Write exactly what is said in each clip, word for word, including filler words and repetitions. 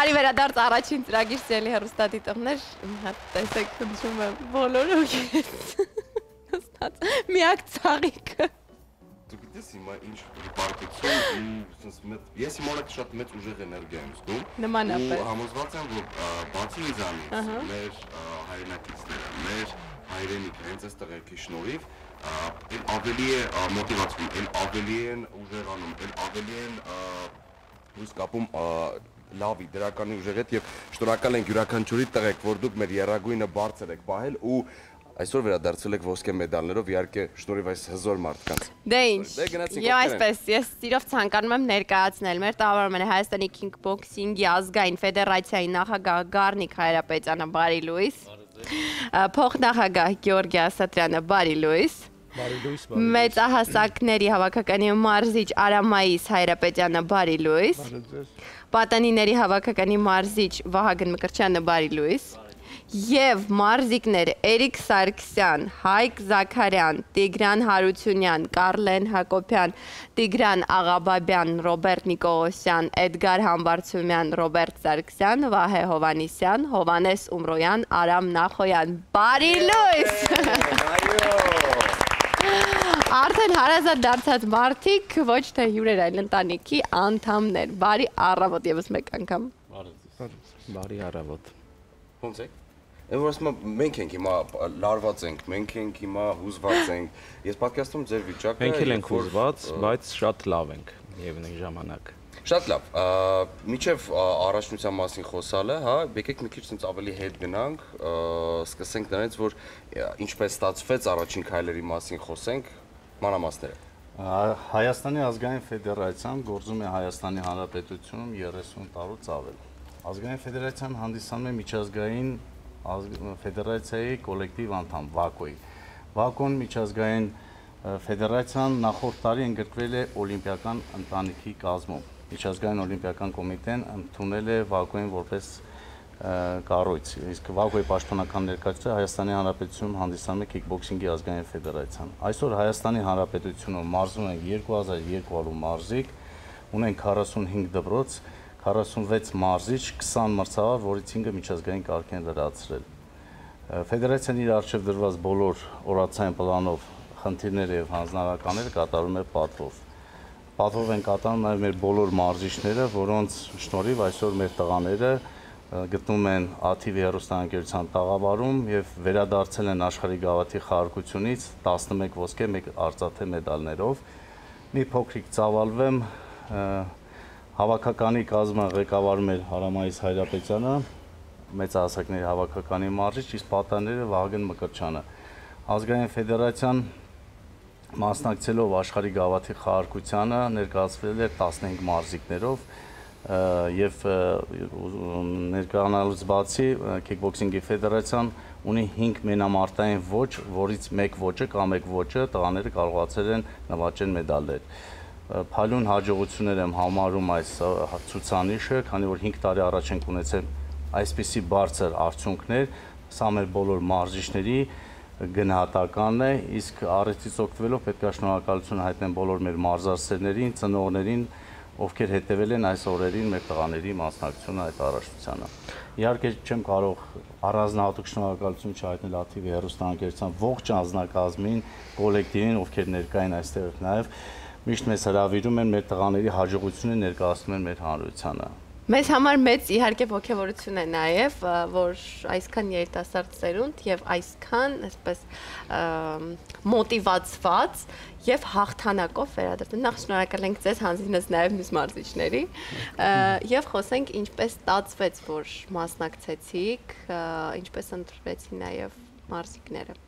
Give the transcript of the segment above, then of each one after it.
Բարի վերադարձ առաջին ծրագիր սիրելի հեռուստադիտողներ, հատ տեսեք խնդրում եմ բոլորը միակ ծաղիկը։ Դու գիտես հիմա ինչ պարտություն ու ես հիմա շատ շատ մեծ ուժեղ էներգիա եմ զգում։ Նմանապես։ Ու համոզված եմ, որ բացի ինձանից, մեր հայրենակիցները, մեր հայրենիքը հենց այս տղերքի շնորհիվ էլ ավելի է մոտիվացվում, էլ ավելի են ուժեղանում, էլ ավելի են հույս կապում լավի, դրականի ուժեղ հետ եւ շնորհակալ ենք յուրաքանչյուրի տղեկ, որ դուք մեր երագույնը բարձր եք պահել ու այսօր վերադարձել եք ոսկե մեդալներով, իհարկե շնորհիվ այս հզոր մարդկանց։ Դե ինչ, եւ այսպես, ես սիրով ցանկանում եմ ներկայացնել մեր տաղավարում Հայաստանի քինգբոքսինգի ազգային ֆեդերացիայի նախագահ Գառնիկ Հայրապետյանը, բարի լույս։ Փոխնախագահ Գեորգի Ասատրյանը, բարի լույս։ Մեծահասակների հավաքականի մարզիչ Արամայիս Հայրապետյանը, բարի լույս։ Պատանիների հավաքականի մարզիչ Վահագն Մկրտչյանը, բարի լույս։ Եվ մարզիկներ Էրիկ Սարգսյան, Հայկ Զաքարյան, Տիգրան Հարությունյան, Կարլեն Հակոբյան, Տիգրան Աղաբաբյան, Ռոբերտ Նիկողոսյան, Էդգար Համբարձումյան, Ռոբերտ Սարգսյան, Վահե Հովանիսյան, Հովանես Ումրոյան, Արամ Նախոյան, բարի լույս։ Արդեն հարազատ դարձած մարդիկ ոչ թե հյուրեր, այլ ընտանիքի անդամներ, բարի առավոտ եւս մեկ անգամ։ Բարի առավոտ։ Ո՞նց եք։ Եմ որ ասում եմ մենք ենք հիմա լարված ենք, մենք ենք հիմա հուզված ենք։ Ես պատկերացնում ձեր վիճակը։ Մենք էլ ենք հուզված, բայց շատ լավ ենք միևնույն ժամանակ։ Շատ լավ։ Միջև առաջնության մասին խոսալը, հա, եկեք մի քիչ ցած ավելի հետ գնանք, սկսենք նրանից, որ ինչպես ստացվեց առաջին քայլերի մասին խոսենք, մանրամասները։ Հայաստանի ազգային ֆեդերացիան գործում է Հայաստանի Հանրապետությունում երեսուն տարուց ավել։ Ազգային ֆեդերացիան հանդիսանում է միջազգային ֆեդերացիայի կոլեկտիվ անդամ վակոյի։ Վակոն միջազգային ֆեդերացիան նախորդ տարի ընդգրկվել է օլիմպիական ընտանիքի կազմում։ Միջազգային օլիմպիական կոմիտեն ընդունել է վակոյին որպես կառույց։ Իսկ վակոյի պաշտոնական ներկայացուցիչ Հայաստանի Հանրապետությունում հանդիսանում է քիքբոքսինգի ազգային ֆեդերացիան։ Այսօր Հայաստանի Հանրապետությունում մարզում են երկու հազար երկու հարյուր մարզիկ, ունեն քառասունհինգ դպրոց, քառասունվեց մարզիչ, քսան մրցավար, որից հինգը միջազգային կարգ են լրացրել։ Ֆեդերացիան իր առջև դրված բոլոր օրացային պլանով խնդիրները եւ հանձնարարականները կատարում է պատվով։ Պատվով են կատարում նաեւ մեր բոլոր մարզիչները, որոնց շնորհիվ այսօր մեր տղաները գտնվում են աթիվ հեռուստաընկերության տաղավարում եւ վերադարձել են աշխարհի գավաթի խաղարկությունից տասնմեկ ոսկե, մեկ արծաթե մեդալներով։ Մի փոքրիկ ծավալվեմ, հավաքականի կազմը ղեկավարում էր Արամայիս Հայրապետյանը, մեծահասակների հավաքականի մարզիչ, իսկ պատանիները Վահագն Մկրտչյանը։ Ազգային ֆեդերացիան մասնակցելով աշխարհի գավաթի խաղարկությանը ներկայացվել էր տասնհինգ մարզիկներով եւ ներկայանալուց բացի քիքբոքսինգի ֆեդերացիան ունի հինգ մենամարտային ոճ, որից մեկ ոճը կամ մեկ ոճը տղաները կարողացել են նվաճել մեդալներ։ Փայլուն հաջողություններ եմ համարում այս ցուցանիշը, քանի որ հինգ տարի առաջ ենք ունեցել այսպիսի բարձր արդյունքներ, սա մեր բոլոր մարզիչների գնահատականն է, իսկ առիթից օգտվելով պետք է շնորհակալություն հայտնեմ բոլոր մեր մարզասերներին, ծնողներին, ովքեր հետևել են այս օրերին մեր տղաների մասնակցությունը այդ առաջնությանը։ Իհարկե չեմ կարող առանձնահատուկ շնորհակալություն չհայտնել աթիվ հեռուստաընկերության ողջ անձնակազմին, կոլեկտիվին, ովքեր ներկա են այստեղ նաև միշտ մեզ հրավիրում են մեր տղաների հաջողությունը ներկայացնում են մեր հանրությանը։ Մեզ համար մեծ իհարկե ողջավորություն է նաև, որ այսքան երիտասարդ սերունդ եւ այսքան այսպես մոտիվացված եւ հաղթանակով վերադարձել։ Նախ շնորհակալ ենք ձեզ, հանձինս նաև մյուս մարզիչների եւ խոսենք ինչպես ստացվեց, որ մասնակցեցիք, ինչպես ընտրվեցին նաև մարզիկները։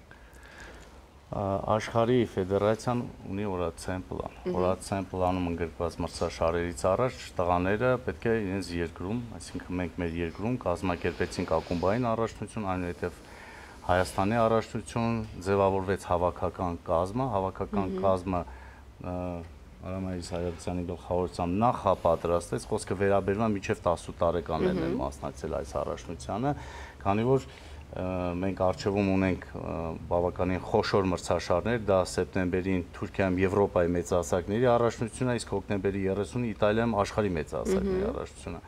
Աշխարհի ֆեդերացիան ունի օրացային պլան։ Օրացային պլանում ընդգրկված մրցաշարերից առաջ տղաները պետք է իրենց երկրում, այսինքն մենք մեր երկրում կազմակերպեցինք ակումբային առաջնություն, այնուհետև Հայաստանի առաջնություն, ձևավորվեց հավաքական կազմը, հավաքական կազմը Արամայիս Հայրապետյանի գլխավորությամբ նախապատրաստեց, խոսքը վերաբերում է մինչև տասը տարեկաններն են մասնակցել այս առաջնությանը, քանի որ մենք արժևում ունենք բավականին խոշոր մրցաշարներ, դա սեպտեմբերին Թուրքիայում Եվրոպայի մեծահասակների առաջնությունը, իսկ հոկտեմբերի երեսունը Իտալիայում աշխարհի մեծահասակների առաջնությունը։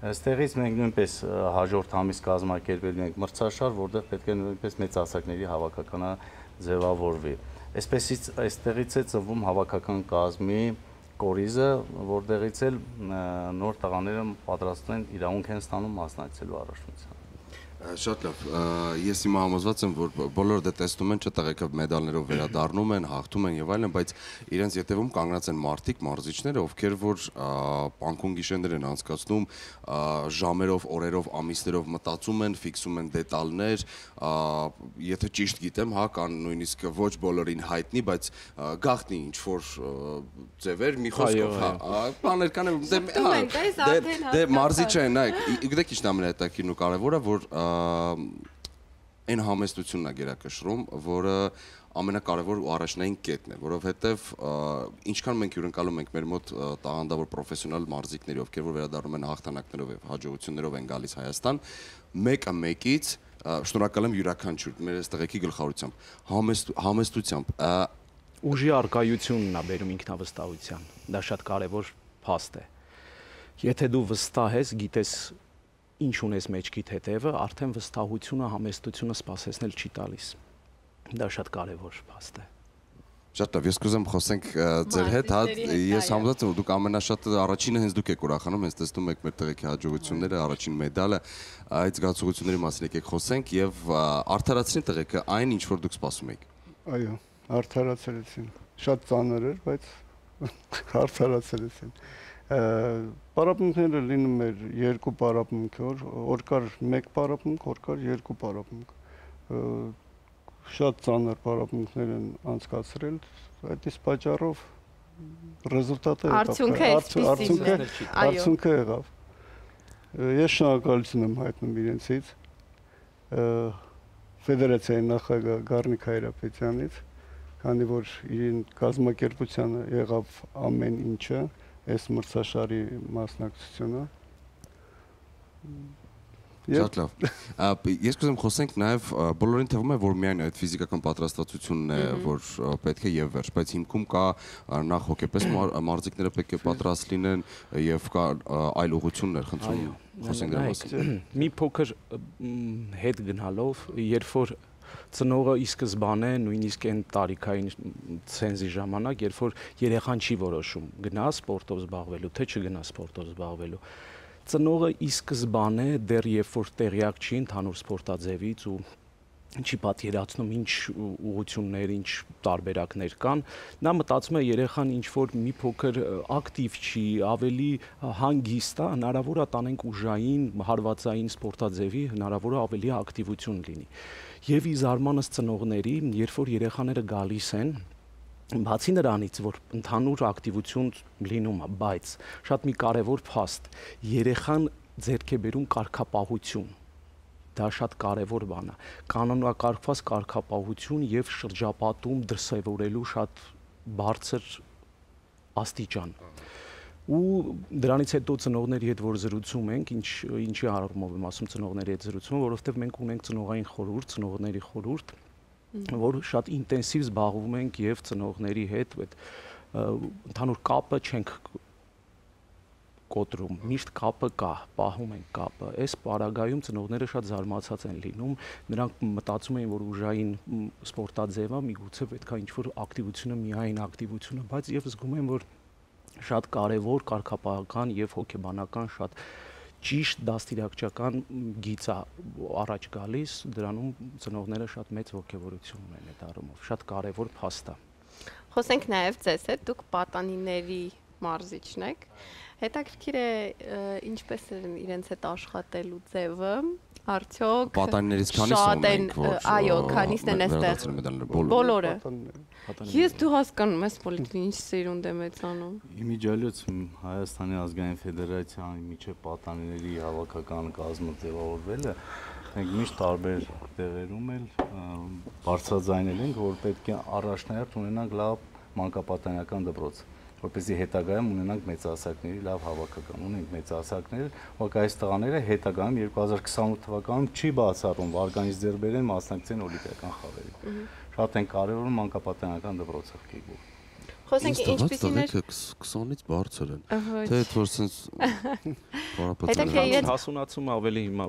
Այստեղից մենք նույնպես հաջորդ ամիս կազմակերպելու ենք մրցաշար, որտեղ պետք է նույնպես մեծահասակների հավաքականը ձևավորվի։ Այսպեսից այստեղից է ծնվում հավաքական կազմի կորիզը, որտեղից էլ նոր տղաները պատրաստվում են իրավունք են ստանում մասնակցելու առաջնությանը։ Շատ լավ, ես հիմա համոզված եմ, որ բոլորը դե տեսնում են, չէ՞ տղեկը մեդալներով վերադառնում են, հաղթում են եւ այլն, բայց իրենց ետևում կանգնած են մարդիկ, մարզիչները, ովքեր որ պանկուն գիշերներ են անցկացնում, ժամերով, օրերով, ամիսներով մտածում են, ֆիքսում են դետալներ, եթե ճիշտ գիտեմ, հա, կան նույնիսկ ոչ բոլորին հայտնի, բայց գաղտնի ինչ որ ձևեր, մի խոսքով, հա, բաներ կան, դե մարզիչը են, նայեք, գիտեք ինչ ամենահետաքրքիրն ու կարևորը, որ այն համեստությունն է գերակշռում, որը ամենակարևոր ու առաջնային կետն է, որովհետև ինչքան մենք հյուրընկալում ենք մեր մոտ տաղանդավոր պրոֆեսիոնալ մարզիկների, ովքեր որ վերադառնում են հաղթանակներով եւ հաջողություններով են գալիս Հայաստան, մեկը մեկից շնորհակալ եմ յուրաքանչյուր մեր այս տղեկի գլխավորությամբ, համեստությամբ, ուժի արկայությունն է բերում ինքնավստահության, դա շատ կարևոր փաստ է։ Եթե դու վստահ ես, գիտես ինչ ունես մեջքիդ հետևը, արդեն վստահությունը, համեստությունը սպասեցնել չի տալիս։ Դա շատ կարևոր փաստ է։ Շատ լավ, ես կուզեմ խոսենք ձեր հետ, հա, ես համոզված եմ, որ դուք ամենաշատ առաջինը հենց դուք եք ուրախանում, հենց տեսնում եք մեր տղեկի հաջողությունները, առաջին մեդալը, այդ զգացողությունների մասին եկեք խոսենք եւ արդարացնի տղեկը այն, ինչ որ դուք սպասում եք։ Այո, արդարացրեցին։ Շատ ծանր էր, բայց արդարացրեցին։ Պարապմունքները լինում էր երկու պարապմունք, որ կար մեկ պարապմունք, որ կար երկու պարապմունք։ Շատ ծանր պարապմունքներ են անցկացրել, այդ իսկ պատճառով ռեզուլտատը արդյունքը եղավ։ Ես շնորհակալություն եմ հայտնում իրենցից, ֆեդերացիայի նախագահ Գառնիկ Հայրապետյանից, քանի որ իրեն կազմակերպությանը եղավ ամեն ինչը, այս մրցաշարի մասնակցությունը։ Շատ լավ։ Ես կուզեմ խոսենք նաև բոլորին թվում է, որ միայն այդ ֆիզիկական պատրաստվածությունն է, որ պետք է եւ վերջ, բայց հիմքում կա նախ հոգեպես մարզիկները պետք է պատրաստ լինեն եւ կա այլ ուղղություններ, խնդրում խոսենք դրա մասին։ Մի փոքր հետ գնալով, երբ որ ծնողը ի սկզբանե նույնիսկ այն տարիքային ցենզի ժամանակ, երբ որ երեխան չի որոշում գնա սպորտով զբաղվելու, թե չգնա սպորտով զբաղվելու, ծնողը ի սկզբանե դեռ երբ որ տեղյակ չի ընդհանուր սպորտաձևից ու չի պատկերացնում ինչ ուղղություններ, ինչ տարբերակներ կան, նա մտածում է երեխան ինչ որ մի փոքր ակտիվ չի, ավելի հանգիստ է, հնարավոր է տանենք ուժային, հարվածային սպորտաձևի, հնարավոր է ավելի ակտիվություն լինի։ Եվ ի զարմանս ծնողների, երբ որ երեխաները գալիս են, բացի նրանից, որ ընդհանուր ակտիվություն լինում է, բայց շատ մի կարևոր փաստ, երեխան ձեռք է բերում կարգապահություն։ Դա շատ կարևոր բան է։ Կանոնակարգված կարգապահություն եւ շրջապատում դրսևորելու շատ բարձր աստիճան։ Ու դրանից հետո ծնողների հետ որ զրուցում ենք, ինչ ինչի առումով եմ ասում ծնողների հետ զրուցում, որովհետեւ մենք ունենք ծնողային խորհուրդ, ծնողների խորհուրդ, որ շատ ինտենսիվ զբաղվում ենք եւ ծնողների հետ այդ ընդհանուր կապը չենք կոտրում, միշտ կապը կա, պահում ենք կապը։ Այս պարագայում ծնողները շատ զարմացած են լինում, նրանք մտածում են, որ ուժային սպորտաձևը միգուցե պետք է ինչ-որ ակտիվությունը, միայն ակտիվությունը, բայց եւ զգում եմ, որ շատ կարևոր կարգապահական եւ հոգեբանական շատ ճիշտ դաստիարակչական գիծ է առաջ գալիս, դրանում ծնողները շատ մեծ ոգևորություն ունեն այդ առումով, շատ կարևոր փաստ է։ Խոսենք նաեւ ձեզ հետ, դուք պատանիների մարզիչն եք։ Հետաքրքիր է ինչպես է իրենց հետ աշխատելու ձևը, արդյոք պատանիներից քանիսը ունենք, որ այո, քանիսն են այստեղ։ Բոլորը։ Ես դու հասկանում ես պոլիտիկին ինչ սերունդ է մեծանում։ Իմիջիալից Հայաստանի ազգային ֆեդերացիայի միջև պատանիների հավաքական կազմը ձևավորվելը, մենք միշտ տարբեր տեղերում էլ բարձրաձայնել ենք, որ պետք է առաջնահերթ ունենանք լավ մանկապատանեկան դպրոց, որպեսզի հետագայում ունենանք մեծահասակների լավ հավաքական, ունենք մեծահասակներ, որ այս տղաները հետագայում երկու հազար քսանութ թվականում չի բացառում վարկանից ձեռք բերեն մասնակցեն օլիմպիական խաղերի։ Շատ են կարևորում մանկապատանեկան դպրոցը։ Խոսենք ինչպիսին էր քսանից բարձր են։ Ահա, Թե այդ որ sense Հետաքրքիր է։ հասունացումը ավելի հիմա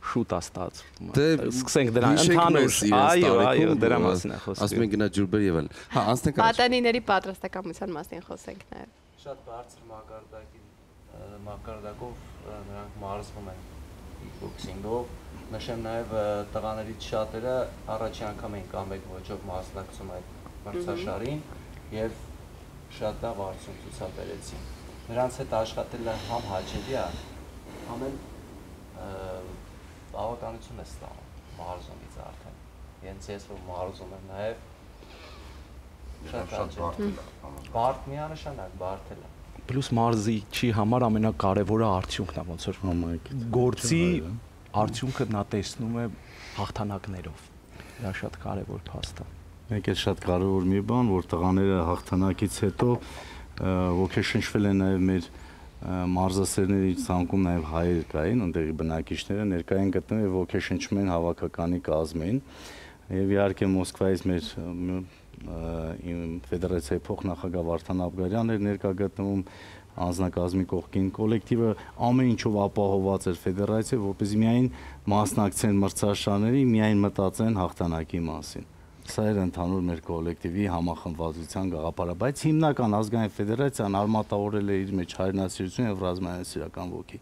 շուտ է ստացվում։ Դե Սկսենք դրան ընդհանուր, այո, այո, դրա մասին է խոսքը։ Ասում են գնա ջուրբեր եւ այլն։ Հա, անցնենք առաջ։ Պատանիների պատրաստակամության մասին խոսենք նաև։ Շատ բարձր մակարդակի մակարդակով նրանք մարզվում են բոքսինգով։ Նշեմ նաև տղաներից շատերը առաջի անգամ են կամ մեկ ոճով մասնակցում այդ մրցաշարին եւ շատ լավ արդյունք ցուցաբերեցին։ Նրանց հետ աշխատելը համ հաճելի է, համ էլ բավականություն է ստանում մարզումից արդեն։ Հենց ես որ մարզում եմ նաև շատ հաճելի։ Բարդ միանշանակ բարդել է։ Պլյուս մարզիչի համար ամենակարևորը արդյունքն է, ոնց որ գործի արդյունքը նա տեսնում է հաղթանակներով։ Դա շատ կարևոր փաստ է։ Մեկ էլ շատ կարևոր մի բան, որ տղաները հաղթանակից հետո ոգեշնչվել են նաև մեր մարզասերների ցանկում նաև հայեր կային, այնտեղի բնակիչները ներկային գտնում եւ ոգեշնչում են հավաքականի կազմին։ Եվ իհարկե Մոսկվայից մեր ֆեդերացիայի փոխնախագահ Վարդան Աբգարյանն էր ներկա գտնվում անձնակազմի կողքին, կոլեկտիվը ամեն ինչով ապահովված էր ֆեդերացիա, որպեսզի միայն մասնակցեն մրցաշարների, միայն մտածեն հաղթանակի մասին։ Սա էր ընդհանուր մեր կոլեկտիվի համախմբվածության գաղափարը, բայց հիմնական ազգային ֆեդերացիան արմատավորել է իր մեջ հայրենասիրություն եւ ռազմայնասիրական ոգի։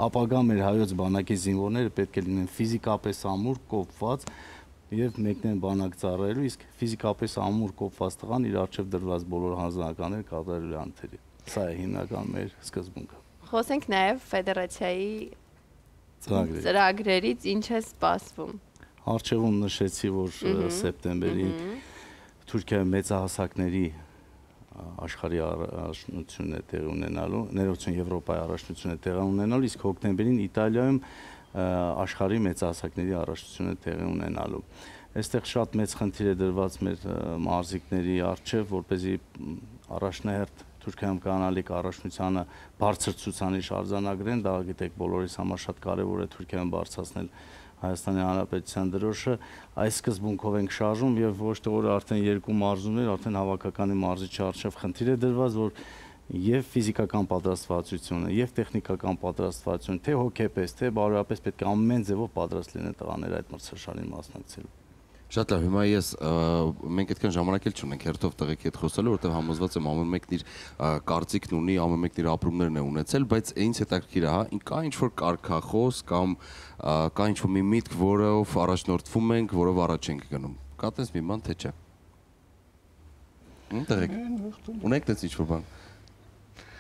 Ապագա մեր հայոց բանակի զինվորները պետք է լինեն ֆիզիկապես ամուր, կոփված եւ մեկնեն բանակ ծառայելու, իսկ ֆիզիկապես ամուր կոփված տղան իր առջեւ դրված բոլոր հանձնականները կատարելու է անթերի։ Սա է հիմնական մեր սկզբունքը։ Խոսենք նաև ֆեդերացիայի ծրագրերից ինչ է սպասվում։ Առջևում նշեցի, որ սեպտեմբերին Թուրքիայի մեծահասակների աշխարհի առաջնությունն է տեղի ունենալու, ներողություն Եվրոպայի առաջնությունն է տեղի ունենալու, իսկ հոկտեմբերին Իտալիայում աշխարհի մեծահասակների առաջնությունն է տեղի ունենալու։ Այստեղ շատ մեծ խնդիր է դրված մեր մարզիկների առջև, որպեսզի առաջնահերթ Թուրքիայում կանալիք առաջնությանը բարձր ցուցանիշ արձանագրեն, դա գիտեք բոլորիս համար շատ կարևոր է Թուրքիայում բարձրացնել Հայաստանի Հանրապետության դրոշը, այս սկզբունքով ենք շարժում եւ ոչ թե որ արդեն երկու մարզումներ, արդեն հավաքականի մարզիչի առջև խնդիր է դրված, որ եւ ֆիզիկական պատրաստվածությունը, եւ տեխնիկական պատրաստվածությունը, թե հոգեպես, թե բարոյապես պետք է ամեն ձևով պատրաստ լինեն տղաները այդ մրցաշարին մասնակցելու։ Շատ լավ, հիմա ես մենք այդքան ժամանակ էլ չունենք հերթով տղեկի հետ խոսելու, որովհետև համոզված եմ ամեն մեկն իր կարծիքն ունի, ամեն մեկն իր ապրումներն է ունեցել, բայց ինձ հետաքրքիր է, հա, կա ինչ-որ կարգախոս կամ կա ինչ-որ մի միտք, որով առաջնորդվում ենք, որով առաջ ենք գնում։ Կա տես մի բան, թե չէ։ Ո՞ւմ տղեկ։ Ունեք տես ինչ-որ բան։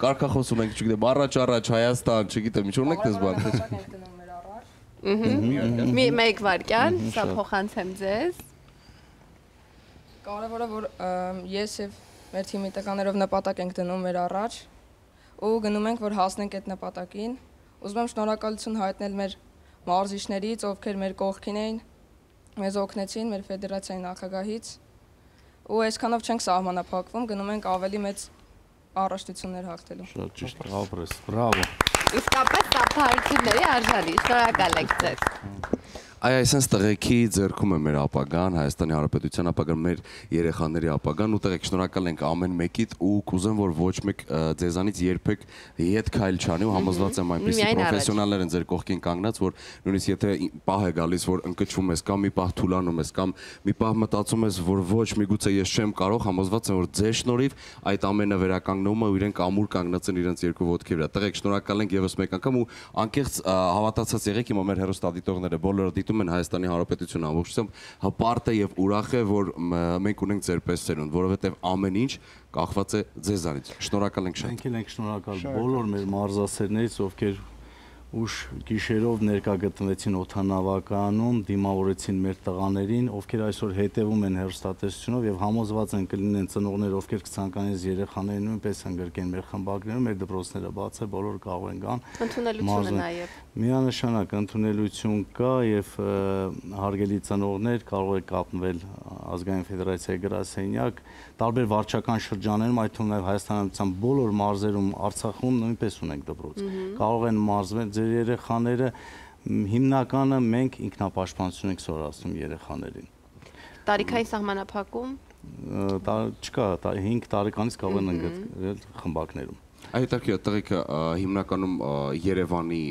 Կարգախոս ունենք, չգիտեմ, առաջ-առաջ Հայաստան, չգիտեմ, ինչ ունեք տես բան, թե չէ։ Մի մեկ վարքյան, սա փոխանցեմ ձեզ։ Կարևորը որ ես եւ մեր թիմի տղաներով նպատակ ենք դնում մեր առաջ ու գնում ենք որ հասնենք այդ նպատակին։ Ուզում եմ շնորհակալություն հայտնել մեր մարզիչներից, ովքեր մեր կողքին էին, մեզ օգնեցին մեր ֆեդերացիայի նախագահից ու այսքանով չենք սահմանափակվում, գնում ենք ավելի մեծ առաջնություններ հաղթելու։ Շատ ճիշտ, ապրես, բրավո։ Իսկապես սափարությունների արժանի, շնորհակալ ենք ձեզ։ Այ այսպես տղեկի ձեռքում է մեր ապագան, Հայաստանի Հանրապետության ապագան, մեր երեխաների ապագան ու տղեկ շնորհակալ ենք ամեն մեկիդ ու կուզեմ որ ոչ մեկ ձեզանից երբեք ետ քայլ չանի ու համոզված եմ այնպիսի պրոֆեսիոնալներ են ձեր կողքին կանգնած, որ նույնիսկ եթե պահ է գալիս, որ ընկճվում ես կամ մի պահ թուլանում ես կամ մի պահ մտածում ես, որ ոչ միգուցե ես չեմ կարող, համոզված եմ որ ձեր շնորհիվ այդ ամենը վերականգնվում է ու իրենք ամուր կանգնած են իրենց երկու ոտքի վրա։ Տղեկ շնորհակալ ենք եւս մեկ անգամ ու անկեղծ հավատացած եղեք, հիմա մեր հեռուստադիտողները բոլորը դիտում են Հայաստանի Հանրապետությունը ամբողջությամբ հպարտ է եւ ուրախ է, որ մենք ունենք ձեր պես ծերունդ, որովհետեւ ամեն ինչ կախված է ձեզանից։ Շնորհակալ ենք շատ։ Մենք էլ ենք շնորհակալ բոլոր մեր մարզասերներից, ովքեր ուշ գիշերով ներկա գտնվեցին օդանավականում, դիմավորեցին մեր տղաներին, ովքեր այսօր հետևում են հեռուստատեսությունով եւ համոզված են կլինեն ծնողներ, ովքեր կցանկանեն երեխաներին նույնպես ընդգրկեն մեր խմբագրերում, մեր դպրոցները բաց է, բոլորը կարող են գան։ Ընդունելությունը նաեւ։ Միանշանակ ընդունելություն կա եւ հարգելի ծնողներ կարող եք կապնվել ազգային ֆեդերացիայի գրասենյակ, տարբեր վարչական շրջաններում, այդ թվում նաեւ Հայաստանյան բոլոր մարզերում, Արցախում նույնպես ունենք դպրոց։ Կարող են մարզվել ձեր երեխաները, հիմնականը մենք ինքնապաշտպանություն ենք սովորացնում երեխաներին։ Տարիքային սահմանափակում։ չկա, հինգ տարեկանից կարող են ընդգրկվել խմբակներում։ Այդտեղի տղեկը հիմնականում Երևանի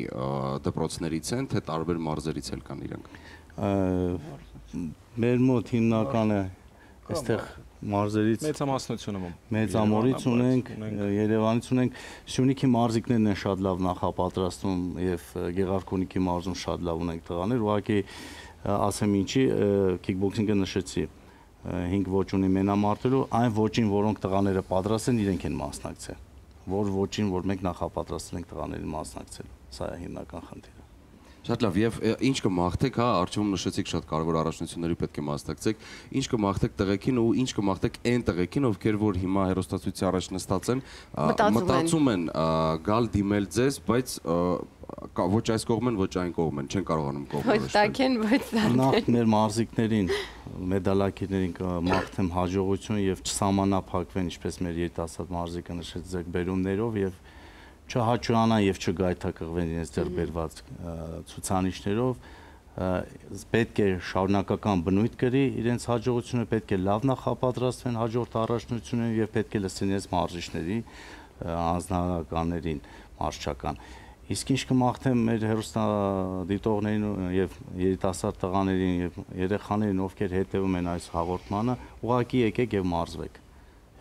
դպրոցներից են, թե տարբեր մարզերից էլ կան իրանք։ Մեր մոտ հիմնականը այստեղ մարզերից մեծամասնությունը մեծամորից ունենք, Երևանից ունենք, Սյունիքի մարզիկներն են շատ լավ նախապատրաստում եւ Գեղարքունիքի մարզում շատ լավ ունենք տղաներ, ուղղակի ասեմ ինչի քիքբոքսինգը նշեցի հինգ ոճ ունի մենամարտելու, այն ոճին, որոնք տղաները պատրաստ են, իրենք են մասնակցել, որ ոճին, որ մենք նախապատրաստել ենք տղաներին մասնակցել, սա է հիմնական խնդիրը։ Շատ լավ, եւ ինչ կմաղթեք, հա, արժեվում նշեցիք շատ կարևոր առաջնությունների պետք է մասնակցեք, ինչ կմաղթեք տղեկին ու ինչ կմաղթեք այն տղեկին, ովքեր որ հիմա հերոստացույցի առաջ նստած են, մտածում են գալ դիմել ձեզ, բայց ոչ այս կողմեն, ոչ այն կողմեն, չեն կարողանում կողմը։ Ոչ տակեն, ոչ զարդեն։ Նախ մեր մարզիկներին, մեդալակիրներին կմաղթեմ հաջողություն եւ չսահմանափակվեն, ինչպես մեր երիտասարդ մարզիկը նշեց, ձեռքբերումներով եւ չհաճանան եւ չգայթակղվեն իրենց ձեռք բերված ցուցանիշներով, պետք է շարունակական բնույթ կրի իրենց հաջողությունը, պետք է լավ նախապատրաստվեն հաջորդ առաջնություններին եւ պետք է լսեն իրենց մարզիչների անձնականներին մարզչական։ Իսկ ինչ կմաղթեմ մեր հեռուստադիտողներին եւ երիտասարդ տղաներին եւ երեխաներին, ովքեր հետեւում են այս հաղորդմանը, ուղղակի եկեք եւ մարզվեք։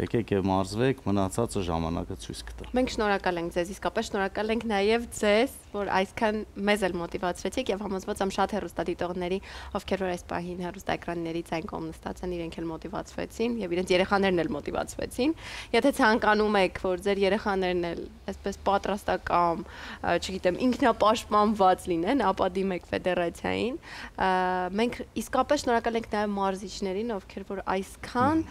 Եկեք եւ մարզվեք, մնացածը ժամանակը ցույց կտա։ Մենք շնորհակալ ենք ձեզ, իսկապես շնորհակալ ենք նաեւ ձեզ, որ այսքան մեզ էլ մոտիվացրեցիք եւ համոզված եմ շատ հեռուստադիտողների, ովքեր որ այս պահին հեռուստաէկրաններից այն կողմ նստած են, իրենք էլ մոտիվացվեցին եւ իրենց երեխաներն էլ մոտիվացվեցին։ Եթե ցանկանում եք, որ ձեր երեխաներն էլ այսպես պատրաստական, չգիտեմ, ինքնապաշտպանված լինեն, ապա դիմեք ֆեդերացիային։ Մենք իսկապես շնորհակալ ենք նաեւ մարզիչներին, ովքեր որ այսքան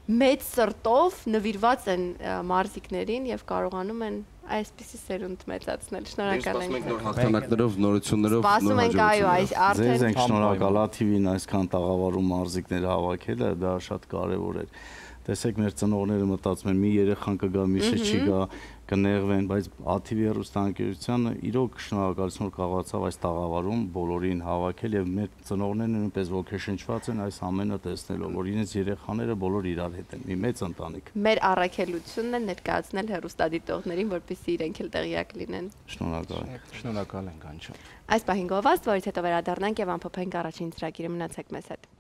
մեծ սրտով նվիրված են մարզիկներին եւ կարողանում են այսպիսի սերունդ մեծացնել։ Շնորհակալ ենք։ Սպասում ենք նոր հաղթանակներով, նորություններով, Սպասում ենք, այո, այս արդեն Ձեզ ենք շնորհակալ ա թի վին այսքան տաղավարում մարզիկներ հավաքելը, դա շատ կարեւոր էր։ Տեսեք մեր ծնողները մտածում են մի երեխան կգա, մյուսը չի գա, կնեղվեն, բայց ա թի վի հեռուստաընկերությանը իրոք շնորհակալություն որ կարողացավ այս տաղավարում բոլորին հավաքել եւ մեր ծնողներն նույնպես ոգեշնչված են այս ամենը տեսնելով, որ իրենց երեխաները բոլոր իրար հետ են, մի մեծ ընտանիք։ Մեր առաքելությունն է ներկայացնել հեռուստադիտողներին, որպեսզի իրենք էլ տեղյակ լինեն։ Շնորհակալ ենք։ Շնորհակալ ենք անչափ։ Այս պահին գովաստ, որից հետո վերադառնանք եւ ամփոփենք առաջին ծրագիրը, մնացեք մեզ հետ։